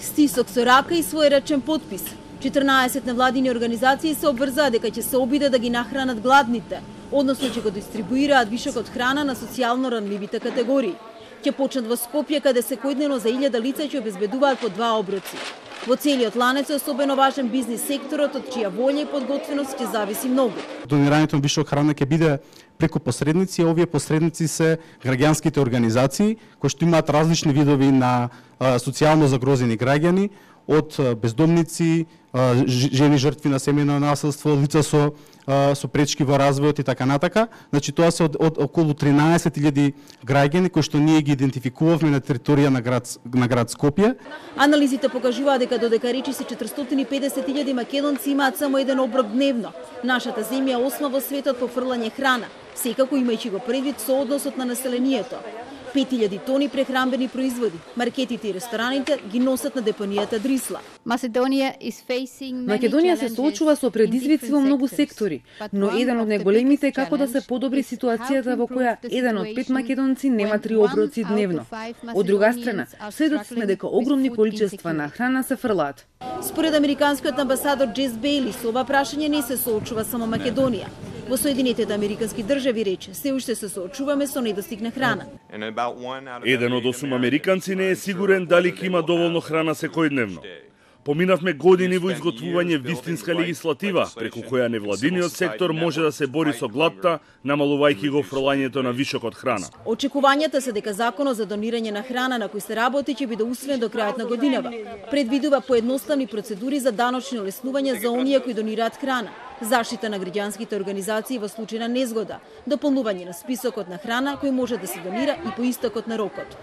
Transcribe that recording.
Стисок со рака и своеречен потпис. 14 невладини организации се обврзаа дека ќе се обидат да ги нахранат гладните, односно ќе го дистрибуираат вишокот храна на социјално ранливите категории. Ќе почнат во Скопје, каде секојдневно за 1000 лица ќе обезбедуваат по 2 оброци. Во целиот ланец е особено важен бизнис секторот, од чија волја и подготвеност ќе зависи многу. Донирањето на вишок храна ќе биде преку посредници, овие посредници се граѓанските организации кои што имаат различни видови на социјално загрозени граѓани, од бездомници, жени жртви на семејно насилство, лица со пречки во развојот и така натака. Значи тоа се од околу 13.000 граѓани кои што ние ги идентификувавме на територија на град Скопје. Анализите покажуваат дека додека речиси 450.000 македонци имаат само еден оброк дневно, нашата земја е 8 во светот по фрлање храна, секако имајќи го предвид со односот на населението. 5000 тони прехранбени производи. Маркетите и рестораните ги носат на депонијата Дрисла. Македонија се соочува со предизвици во многу сектори, но еден од најголемите е како да се подобри ситуацијата во која еден од 5 македонци нема 3 оброци дневно. Од друга страна, сведоци сме дека огромни количества на храна се фрлаат. Според американскиот амбасадор Джес Бейли, со ова прашање не се соочува само Македонија. Во Соединетите американски држави рече, се уште се соочуваме со недостиг на храна. Еден од 8 американци не е сигурен дали ќе има доволно храна секојдневно. Поминавме години во изготвување вистинска легислатива, преку која невладиниот сектор може да се бори со гладта, намалувајќи го фрлањето на вишокот храна. Очекувањата се дека законот за донирање на храна на кој се работи ќе биде усвоен до крајот на годинава. Предвидува поедноставни процедури за даночни олеснувања за оние кои донираат храна, заштита на граѓанските организации во случај на незгода, дополнување на списокот на храна кој може да се донира и по истекот на рокот.